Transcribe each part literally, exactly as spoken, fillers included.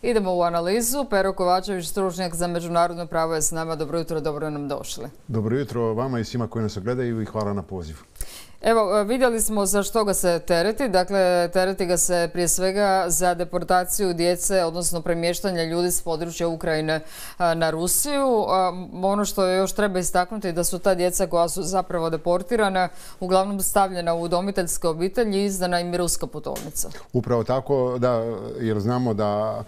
Idemo u analizu. Pero Kovačević, stručnjak za međunarodno pravo, je s nama. Dobro jutro, dobro nam došli. Dobro jutro vama i svima koji nas gledaju i hvala na pozivu. Evo, vidjeli smo za što ga se tereti. Dakle, tereti ga se prije svega za deportaciju djece, odnosno premještanje ljudi s područja Ukrajine na Rusiju. Ono što još treba istaknuti je da su ta djeca koja su zapravo deportirana uglavnom stavljena u udomiteljske obitelji i izdana im je ruska putovnica. Upravo tako, da, jer znamo da,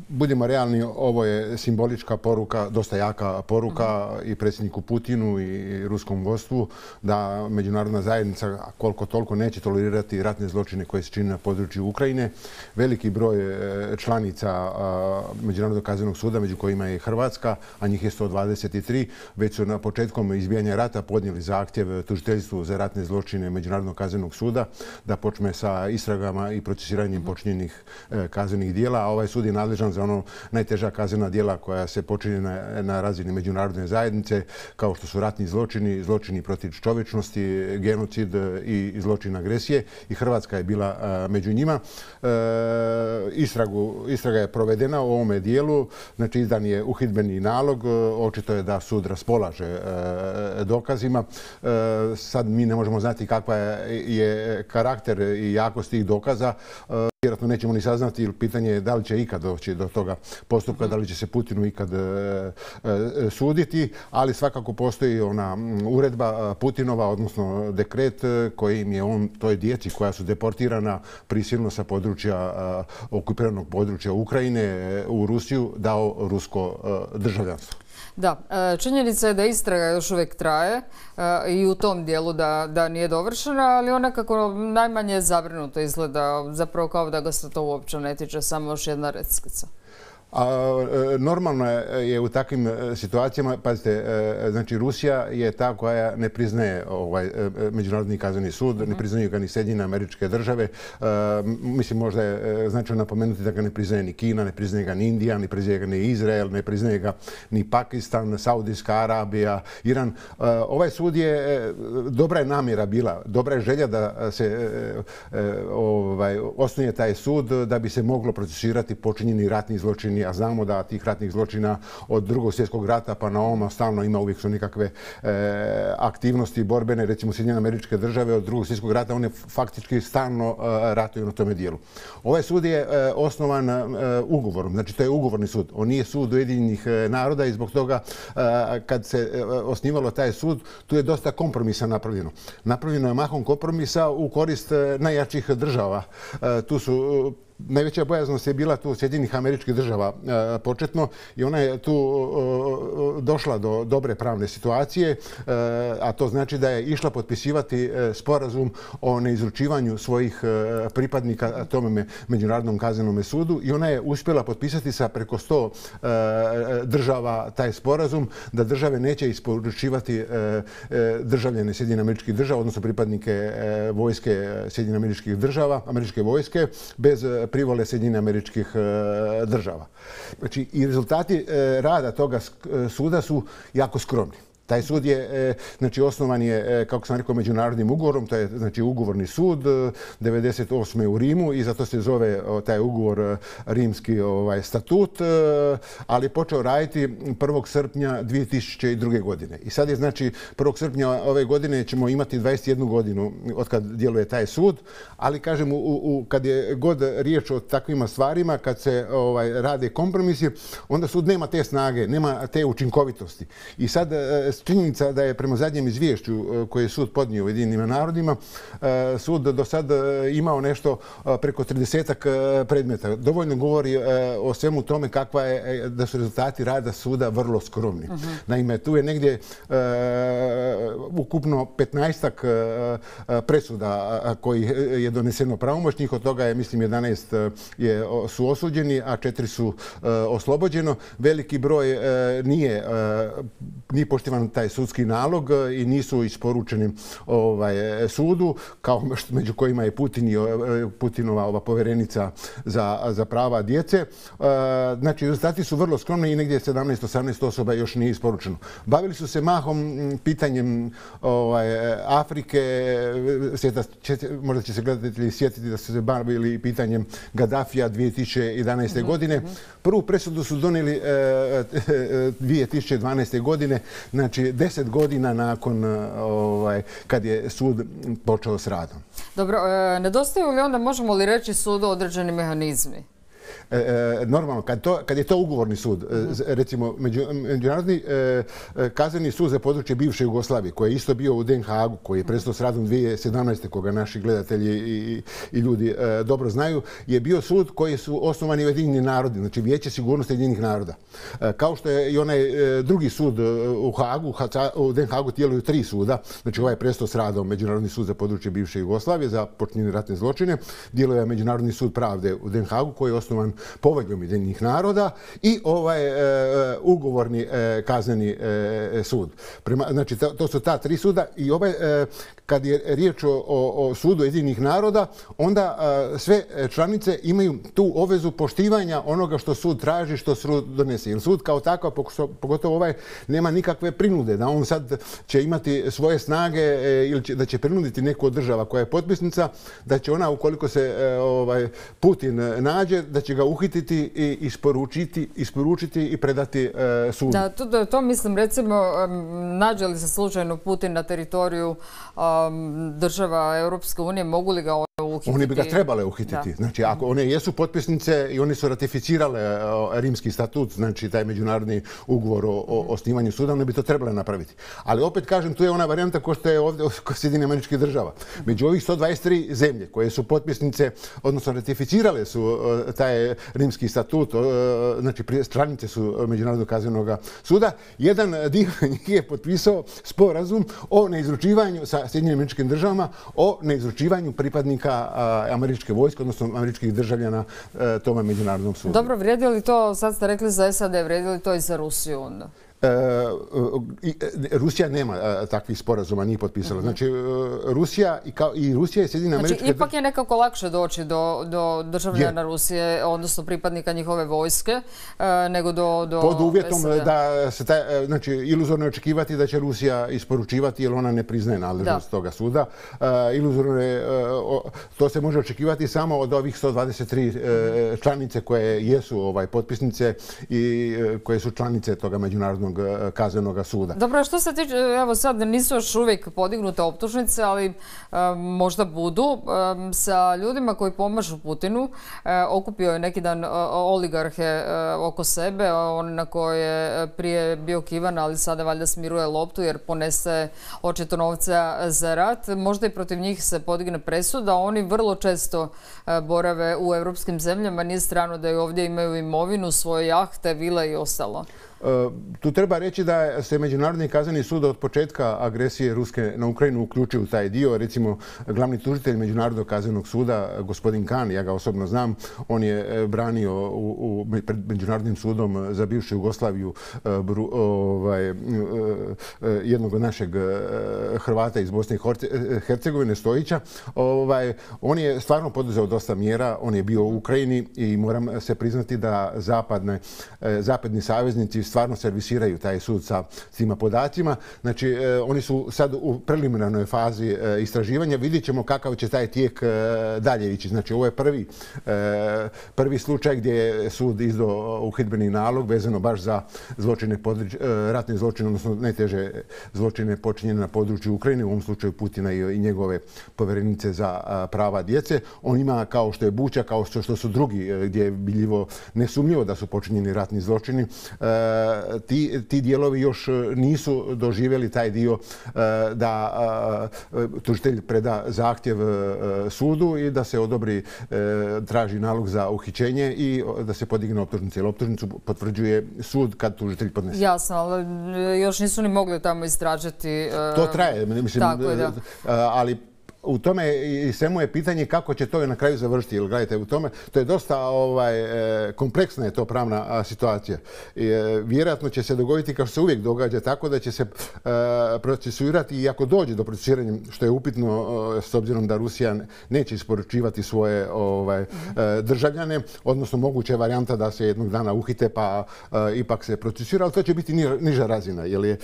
budimo realni, ovo je simbolička poruka, dosta jaka poruka uh-huh. i predsjedniku Putinu i ruskom vodstvu da međunarodna zajednica koliko toliko neće tolerirati ratne zločine koje se čine na području Ukrajine. Veliki broj članica Međunarodnog kaznenog suda, među kojima je Hrvatska, a njih je sto dvadeset tri, već su na početkom izbijanja rata podnijeli zahtjev tužiteljstvu za ratne zločine Međunarodnog kaznenog suda da počne sa istragama i procesiranjem počinjenih kaznenih dijela, a ovaj sud je nadležan za ono najteža kaznena djela koja se počinje na, na razini međunarodne zajednice, kao što su ratni zločini, zločini protiv čovječnosti, genocid i zločin agresije, i Hrvatska je bila među njima. E, istragu, istraga je provedena u ovome dijelu, znači izdan je uhidbeni nalog, očito je da sud raspolaže e, dokazima. E, sad mi ne možemo znati kakva je, je karakter i jakost tih dokaza. E, Vjerojatno nećemo ni saznati, ili pitanje je da li će ikad doći do toga postupka, da li će se Putinu ikad e, e, suditi, ali svakako postoji ona uredba Putinova, odnosno dekret kojim je on toj djeci koja su deportirana prisilno sa područja, okupiranog područja Ukrajine u Rusiju, dao rusko državljanstvo. Da, činjenica je da istraga još uvijek traje i u tom dijelu da, da nije dovršena, ali ona kako najmanje zabrinuto izgleda, zapravo kao da ga se to uopće ne tiče, samo još jedna reckica. A, normalno je u takvim situacijama, pazite, znači Rusija je ta koja ne priznaje ovaj Međunarodni kazneni sud, ne priznaju ga ni Sjedinjene Američke Države. Mislim, možda je značajno napomenuti da ga ne priznaje ni Kina, ne priznaje ga ni Indija, ne priznaje ga ni Izrael, ne priznaje ga ni Pakistan, Saudijska Arabija, Iran. Ovaj sud je, dobra je namjera bila, dobra je želja da se ovaj, osnuje taj sud da bi se moglo procesirati počinjeni ratni zločini, a znamo da tih ratnih zločina od Drugog svjetskog rata pa na ovom stalno ima, uvijek su nekakve e, aktivnosti borbene, recimo Sjedinjene Američke Države od Drugog svjetskog rata, one faktički stalno e, ratuju na tome dijelu. Ovaj sud je e, osnovan e, ugovorom, znači to je ugovorni sud, on nije sud Ujedinjenih naroda, i zbog toga e, kad se e, osnivalo taj sud, tu je dosta kompromisa napravljeno. Napravljeno je mahom kompromisa u korist e, najjačih država. E, tu su Najveća bojaznost je bila tu Sjedinjenih Američkih Država e, početno, i ona je tu e, došla do dobre pravne situacije, e, a to znači da je išla potpisivati e, sporazum o neizručivanju svojih e, pripadnika tome Međunarodnom kaznenom sudu, i ona je uspjela potpisati sa preko sto e, država taj sporazum da države neće isporučivati e, e, državljane Sjedinjenih Američkih Država, odnosno pripadnike e, vojske Sjedinjenih Američkih Država, američke vojske, bez privole Sjedinjenih Američkih Država. Znači, i rezultati rada toga suda su jako skromni. Taj sud je, znači, osnovan je, kako sam rekao, međunarodnim ugovorom, to je, znači, ugovorni sud, devedeset osme u Rimu, i zato se zove taj ugovor Rimski ovaj, statut, ali je počeo raditi prvog srpnja dvije tisuće druge. godine. I sad je, znači, prvog srpnja ove godine ćemo imati dvadeset jednu godinu od kad djeluje taj sud, ali, kažem, u, u, kad je god riječ o takvima stvarima, kad se ovaj, rade kompromisi, onda sud nema te snage, nema te učinkovitosti. I sad činjenica da je prema zadnjem izvješću koje je sud podnio u Ujedinjenim narodima, sud do sad imao nešto preko tridesetak predmeta. Dovoljno govori o svemu tome kakva je, da su rezultati rada suda vrlo skromni. Uh-huh. Naime, tu je negdje uh, ukupno petnaestak uh, presuda koji je doneseno pravomoćnih, od toga je, mislim, jedanaest je, su osuđeni, a četiri su uh, oslobođeno. Veliki broj uh, nije, uh, nije poštivan obznanut taj sudski nalog i nisu isporučeni ovaj, sudu, kao među kojima je Putin i Putinova ova povjerenica za, za prava djece. Znači, rezultati su vrlo skromni i negdje sedamnaest osamnaest osoba još nije isporučeno. Bavili su se mahom pitanjem ovaj, Afrike, sjeta, možda će se gledatelji sjetiti da su se bavili pitanjem Gaddafija dvije tisuće jedanaeste. godine. Prvu presudu su donijeli dvije tisuće dvanaeste. godine, znači deset godina nakon ovaj, kad je sud počeo s radom. Dobro, nedostaju li onda, možemo li reći, sudu određeni mehanizmi? Normalno, kad, to, kad je to ugovorni sud, recimo Međunarodni kazneni sud za područje bivše Jugoslavije, koji je isto bio u Den Haagu, koji je prestao s radom dvije tisuće sedamnaeste. koga naši gledatelji i, i ljudi dobro znaju, je bio sud koji su osnovani Ujedinjeni narodi, znači Vijeće sigurnosti Ujedinjenih naroda. Kao što je i onaj drugi sud u Haagu, u Den Haagu djeluju tri suda, znači ovaj je prestao s radom Međunarodni sud za područje bivše Jugoslavije za počinjene ratne zločine, djeluje Međunarodni sud pravde u Den Haagu koji je osnovan poveljom Ujedinjenih naroda i ovaj e, ugovorni e, kazneni e, sud. Prema, znači, to, to su ta tri suda i ovaj, e, kad je riječ o, o sudu Ujedinjenih naroda, onda e, sve članice imaju tu obvezu poštivanja onoga što sud traži, što sud donese. Jer sud kao takav, pogotovo ovaj, nema nikakve prinude da on sad će imati svoje snage e, ili će, da će prinuditi neku od država koja je potpisnica, da će ona, ukoliko se e, ovaj, Putin nađe, da će ga uhititi i isporučiti, isporučiti i predati e, sudu. Da, to, to mislim, recimo, um, nađe li se slučajno Putin na teritoriju um, država Europske unije, mogu li ga uhititi? Oni bi ga trebale uhititi. Da. Znači, ako one jesu potpisnice i oni su ratificirale Rimski statut, znači taj međunarodni ugovor o, o osnivanju suda, one bi to trebale napraviti. Ali opet kažem, tu je ona varijanta ko što je ovdje kod Sjedinjenih Američkih Država. Među ovih sto dvadeset tri zemlje koje su potpisnice, odnosno ratificirale su taj Rimski statut, znači stranice su Međunarodnog kaznenog suda, jedan dio njih je potpisao sporazum o neizručivanju sa Sjedinjenim Američkim Državama, o neizručivanju pripadnika američke vojske, odnosno američkih državljana tome međunarodnom sudu. Dobro, vrijedi li to, sad ste rekli za S A D, vrijedi li to i za Rusiju onda? Rusija nema takvih sporazuma, nije potpisala. Znači, Rusija i, kao, i Rusija i Sjedinjene Američke Države... Znači, ipak je nekako lakše doći do, do državljana je. Rusije, odnosno pripadnika njihove vojske, nego do, do pod uvjetom S A D. Da se taj, znači, iluzorno je očekivati da će Rusija isporučivati, jer ona ne priznaje nadležnost toga suda. Iluzorno je, to se može očekivati samo od ovih sto dvadeset tri članice koje jesu ovaj, potpisnice i koje su članice toga međunarodnog kaznenog suda. Dobro, što se tiče, evo sad nisu još uvijek podignute optužnice, ali um, možda budu. Um, sa ljudima koji pomažu Putinu, uh, okupio je neki dan uh, oligarhe uh, oko sebe, on na koje je prije bio kivan, ali sada valjda smiruje loptu jer ponese očito novca za rat. Možda i protiv njih se podigne presuda. Oni vrlo često uh, borave u europskim zemljama. Nije strano da i ovdje imaju imovinu, svoje jahte, vile i ostalo. Tu treba reći da se Međunarodni kazneni sud od početka agresije Ruske na Ukrajinu uključio u taj dio. Recimo, glavni tužitelj Međunarodnog kaznenog suda, gospodin Khan, ja ga osobno znam, on je branio u, u, pred Međunarodnim sudom za bivšu Jugoslaviju bru, ovaj, jednog našeg Hrvata iz Bosne i Hercegovine, Stojića. Ovaj, on je stvarno poduzeo dosta mjera, on je bio u Ukrajini i moram se priznati da zapadne, zapadni saveznici stvarno servisiraju taj sud sa svima podacima. Znači, e, oni su sad u preliminarnoj fazi e, istraživanja. Vidjet ćemo kakav će taj tijek e, dalje ići. Znači, ovo je prvi, e, prvi slučaj gdje je sud izdao uhidbeni nalog vezano baš za zločine, područ, e, ratne zločine, odnosno najteže zločine počinjene na području Ukrajine, u ovom slučaju Putina i, i njegove povjerenice za a, prava djece. On ima, kao što je Buča, kao što, što su drugi, e, gdje je biljivo nesumnjivo da su počinjeni ratni zločini, e, Ti, ti dijelovi još nisu doživjeli taj dio da tužitelj preda zahtjev sudu i da se odobri, traži nalog za uhićenje i da se podigne optužnice. Jer optužnicu potvrđuje sud kad tužitelj podnese. Jasno, ali još nisu ni mogli tamo istražiti. To traje, mislim, tako je, da. Ali u tome i svemu je pitanje kako će to na kraju završiti. Jer gledajte, u tome, to je dosta ovaj, kompleksna je to pravna situacija. I, vjerojatno će se dogoditi kao što se uvijek događa, tako da će se procesuirati i ako dođe do procesuiranja, što je upitno s obzirom da Rusija neće isporučivati svoje ovaj, državljane, odnosno moguća je varijanta da se jednog dana uhite pa ipak se procesuira, ali to će biti niža razina. Jer je,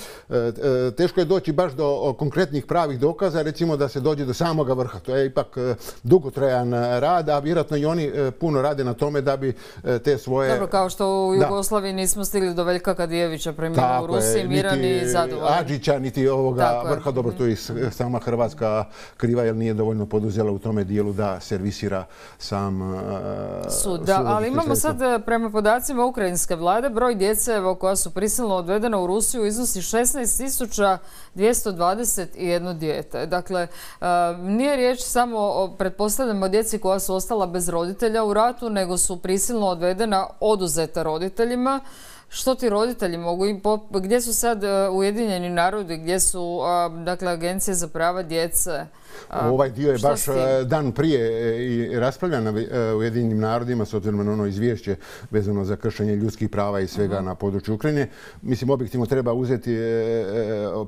teško je doći baš do konkretnih pravih dokaza, recimo da se dođe do samoga vrha. To je ipak dugotrajan rad, a vjerojatno i oni puno rade na tome da bi te svoje... Dobro, kao što u Jugoslaviji nismo stigli do Veljka Kadijevića premijera u Rusiji, miran i zadovoljan. Adžića, niti ovoga vrha. Dobro, to je sama Hrvatska kriva jer nije dovoljno poduzela u tome dijelu da servisira sam sud. Da, ali imamo sad prema podacima ukrajinske vlade broj djece koja su prisilno odvedena u Rusiju iznosi šesnaest tisuća dvjesto dvadeset jedno dijete. Dakle, nije riječ samo o, pretpostavljamo, djeci koja su ostala bez roditelja u ratu, nego su prisilno odvedena, oduzeta roditeljima. Što ti roditelji mogu, gdje su sad Ujedinjeni narodi, gdje su dakle, agencije za prava djece? Ovaj dio je baš dan prije i raspravljan na Ujedinjenim narodima s obzirom na ono izvješće vezano za kršenje ljudskih prava i svega na području Ukrajine. Mislim, objektivno treba uzeti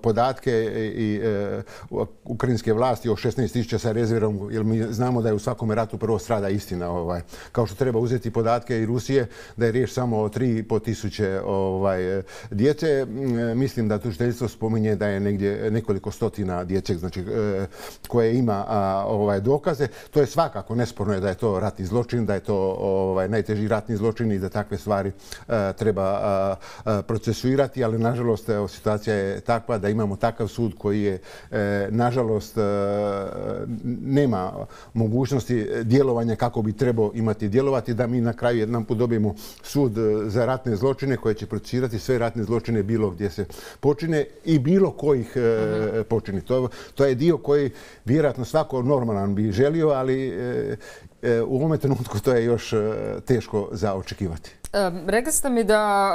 podatke i ukrajinske vlasti o šesnaest tisuća sa rezervom, jer mi znamo da je u svakome ratu prvo strada istina. Kao što treba uzeti podatke i Rusije, da je riječ samo o tri i pol tisuće djece. Mislim da tužiteljstvo spominje da je negdje nekoliko stotina dječeg, znači koje ima ovaj, dokaze. To je svakako nesporno je da je to ratni zločin, da je to ovaj, najteži ratni zločin i da takve stvari a, treba a, a, procesuirati, ali nažalost evo, situacija je takva da imamo takav sud koji je e, nažalost e, nema mogućnosti djelovanja kako bi trebao imati djelovati, da mi na kraju jedan put dobijemo sud za ratne zločine koje će procesuirati sve ratne zločine bilo gdje se počine i bilo kojih e, počini. To, to je dio koji vjerojatno svako normalan bi želio, ali e, e, u ovome trenutku to je još e, teško za očekivati. E, rekli ste mi da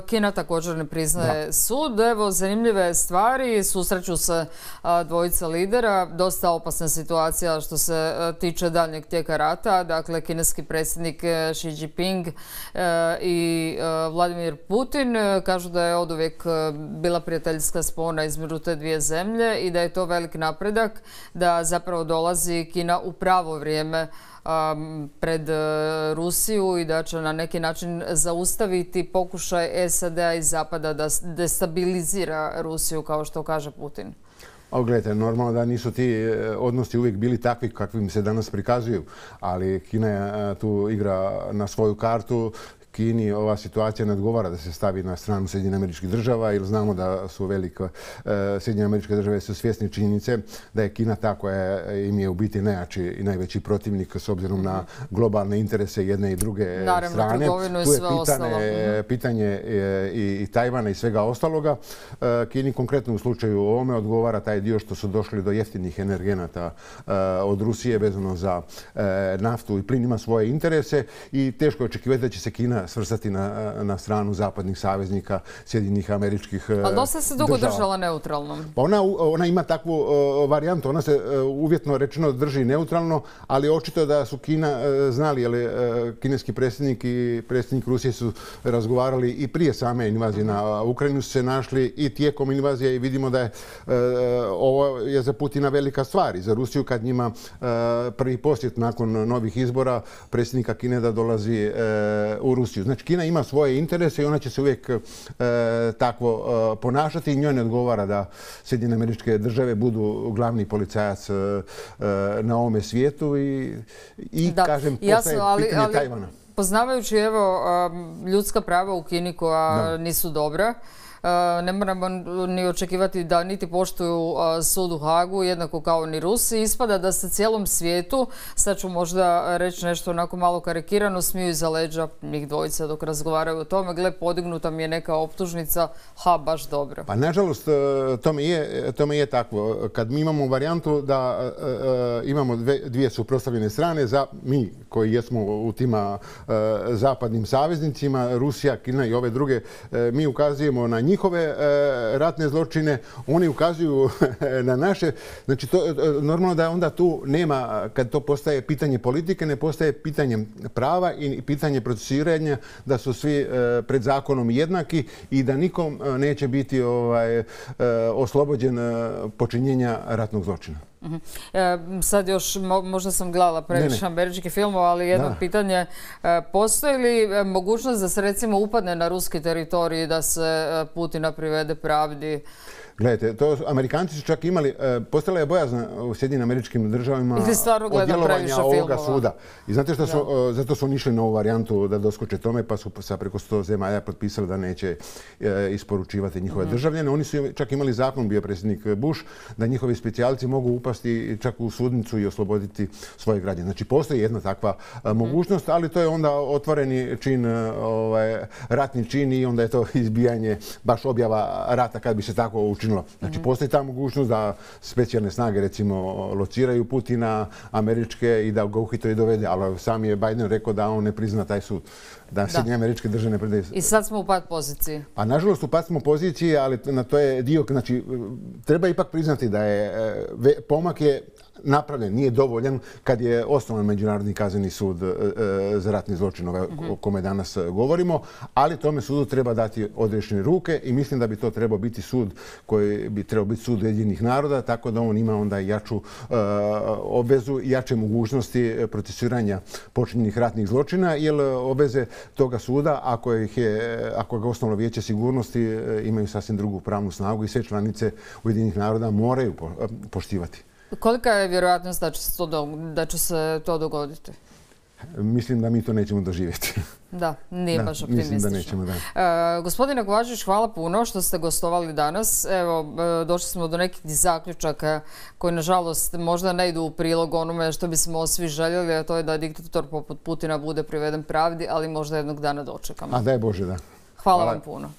e, Kina također ne priznaje da. sud. Evo, zanimljive stvari. Susreću se a, dvojica lidera. Dosta opasna situacija što se a, tiče daljnjeg tijeka rata. Dakle, kineski predsjednik Xi Jinping e, i e, Vladimir Putin e, kažu da je oduvijek bila prijateljska spona između te dvije zemlje i da je to velik napredak, da zapravo dolazi Kina u pravo vrijeme pred Rusiju i da će na neki način zaustaviti pokušaj S A D-a i Zapada da destabilizira Rusiju, kao što kaže Putin. A gledajte, normalno da nisu ti odnosi uvijek bili takvi kakvim se danas prikazuju, ali Kina tu igra na svoju kartu. Kini ova situacija ne odgovara da se stavi na stranu Sjedinjenih Američkih Država, jer znamo da su velike Sjedinjene Američke Države su svjesni činjenice da je Kina ta koja im je u biti najjači i najveći protivnik s obzirom na globalne interese jedne i druge Naravno, strane. Naravno, tu je pitanje, pitanje i, i Tajvana i svega ostaloga. Kini konkretno u slučaju ovome odgovara taj dio što su došli do jeftinih energenata od Rusije vezano za naftu i plin, ima svoje interese i teško je očekivati da će se Kina svrstati na, na stranu zapadnih saveznika Sjedinjenih Američkih država. Ali dosta se dugo držala neutralno. Pa ona, ona ima takvu uh, varijantu. Ona se uh, uvjetno rečeno drži neutralno, ali očito da su Kina uh, znali, ali uh, kineski predsjednik i predsjednik Rusije su razgovarali i prije same invazije na Ukrajinu, su se našli i tijekom invazije i vidimo da je uh, ovo je za Putina velika stvar i za Rusiju kad njima uh, prvi posjet nakon novih izbora predsjednika Kine da dolazi uh, u Rusiju. Znači, Kina ima svoje interese i ona će se uvijek e, takvo e, ponašati i njoj ne odgovara da Sjedinjene Američke Države budu glavni policajac e, na ovome svijetu i, i da, kažem, postaje ali, pitanje ali, Tajvana. Poznavajući evo, ljudska prava u Kini koja da. nisu dobra, ne moramo ni očekivati da niti poštuju sud u Hagu, jednako kao ni Rusi. Ispada da se cijelom svijetu, sad ću možda reći nešto onako malo karikirano, smiju iza leđa njih dvojica dok razgovaraju o tome. Gle, podignuta mi je neka optužnica, ha, baš dobro. Pa nažalost, tome je, tome je takvo. Kad mi imamo varijantu da uh, imamo dve, dvije suprotstavljene strane, za mi koji jesmo u tima uh, zapadnim saveznicima, Rusija, Kina i ove druge, uh, mi ukazujemo na njih njihove ratne zločine, oni ukazuju na naše. Znači, to, normalno da onda tu nema, kad to postaje pitanje politike, ne postaje pitanje prava i pitanje procesiranja, da su svi pred zakonom jednaki i da nikom neće biti ovaj, oslobođen počinjenja ratnog zločina. Uh-huh. E, sad još, mo, možda sam gledala previše američkih filmova, ali jedno da. pitanje. E, postoji li mogućnost da se recimo upadne na ruski teritorij, da se Putina privede pravdi? Gledajte, to Amerikanci su čak imali, postala je bojazna u Sjedinjenim Američkim Državama od djelovanja ovoga suda. I znate što su, zato su oni išli na ovu varijantu da doskoče tome, pa su sa preko sto zemalja potpisali da neće isporučivati njihove mm-hmm. državljane. Oni su čak imali zakon, bio predsjednik Bush, da njihovi specijalci mogu upasti čak u sudnicu i osloboditi svoje građane. Znači, postoji jedna takva mm-hmm. mogućnost, ali to je onda otvoreni čin, ovaj, ratni čin i onda je to izbijanje, baš objava rata kad bi se tako učinilo. Znači, mm-hmm. postoji ta mogućnost da specijalne snage, recimo, lociraju Putina, američke, i da ga uhite i dovede. Ali sam je Biden rekao da on ne prizna taj sud. Da, da. Sjedinjene Američke Države ne predaju. I sad smo u pad poziciji. A nažalost u pad smo poziciji, ali na to je dio, znači, treba ipak priznati da je pomak je napravljen, nije dovoljan kad je osnovan Međunarodni kazneni sud za ratni zločin, o kome danas govorimo, ali tome sudu treba dati odrešene ruke i mislim da bi to trebao biti sud koji bi trebao biti sud Ujedinjenih naroda, tako da on ima onda jaču obvezu i jače mogućnosti procesiranja počinjenih ratnih zločina, jer obveze toga suda, ako, ih je, ako ga osnovno Vijeće sigurnosti, imaju sasvim drugu pravnu snagu i sve članice Ujedinjenih naroda moraju poštivati. Kolika je vjerojatnost da će se to, da će se to dogoditi? Mislim da mi to nećemo doživjeti. Da, nije da, baš optimistično. Mislim da nećemo, da. E, gospodine Kovačević, hvala puno što ste gostovali danas. Evo, došli smo do nekih zaključaka koji, nažalost, možda ne idu u prilog onome što bismo svi željeli, a to je da diktator poput Putina bude priveden pravdi, ali možda jednog dana dočekamo. A daj Bože, da. Hvala, hvala vam puno.